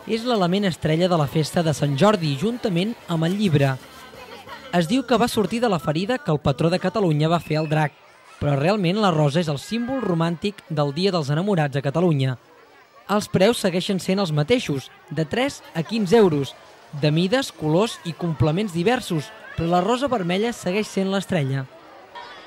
és l'element estrella de la festa de Sant Jordi, juntament amb el llibre. Es diu que va sortir de la ferida que el patró de Catalunya va fer al drac, però realment la rosa és el símbol romàntic del Dia dels Enamorats a Catalunya. Els preus segueixen sent els mateixos, de 3 a 15 euros, de mides, colors i complements diversos, però la rosa vermella segueix sent l'estrella.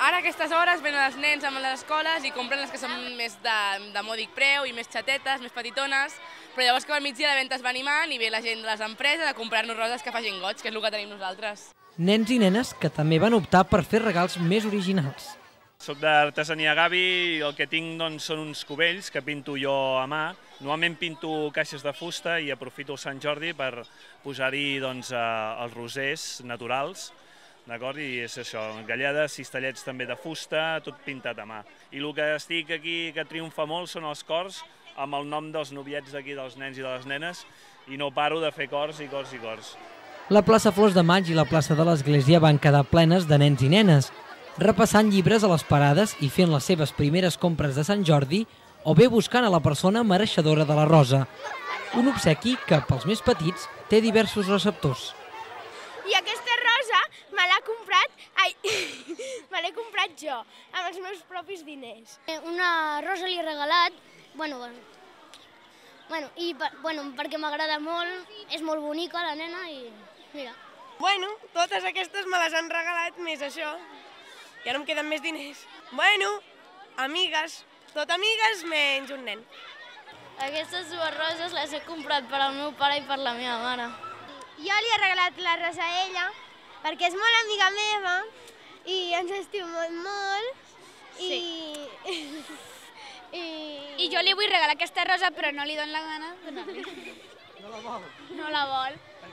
Ara a aquestes hores venen els nens amb les escoles i compren les que són més de mòdic preu i més xatetes, més petitones, però llavors que al migdia la venda es va animant i ve la gent de les empreses a comprar-nos roses que facin goig, que és el que tenim nosaltres. Nens i nenes que també van optar per fer regals més originals. Soc d'artesania Gavi i el que tinc són uns cubells que pinto jo a mà. Normalment pinto caixes de fusta i aprofito el Sant Jordi per posar-hi els rosers naturals. I és això, galledes, cistellets també de fusta, tot pintat a mà. I el que estic aquí, que triomfa molt, són els cors amb el nom dels noviets d'aquí, dels nens i de les nenes, i no paro de fer cors i cors i cors. La plaça Flors de Maig i la plaça de l'Església van quedar plenes de nens i nenes, repassant llibres a les parades i fent les seves primeres compres de Sant Jordi o bé buscant a la persona mereixedora de la rosa. Un obsequi que, pels més petits, té diversos receptors. I aquesta rosa me l'he comprat jo, amb els meus propis diners. Una rosa li he regalat, perquè m'agrada molt, és molt bonica la nena i mira. Totes aquestes me les han regalat, més això. Ja no em queden més diners. Amigues, tot amigues menys un nen. Aquestes dues roses les he comprat per al meu pare i per la meva mare. Jo li he regalat la rosa a ella, perquè és molt amiga meva i ens estimem molt. I jo li vull regalar aquesta rosa, però no li dono la gana de donar-li. No la vol? No la vol,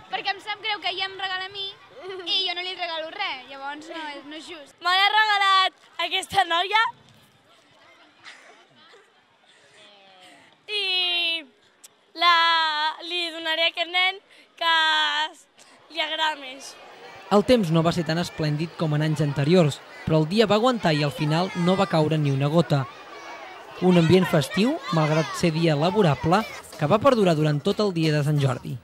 perquè em sap greu que ella em regala a mi i jo no li regalo res, llavors no és just. Me l'ha regalat aquesta noia i li donaré a aquest nen que li agrada més. El temps no va ser tan esplèndid com en anys anteriors, però el dia va aguantar i al final no va caure ni una gota. Un ambient festiu, malgrat ser dia laborable, que va perdurar durant tot el dia de Sant Jordi.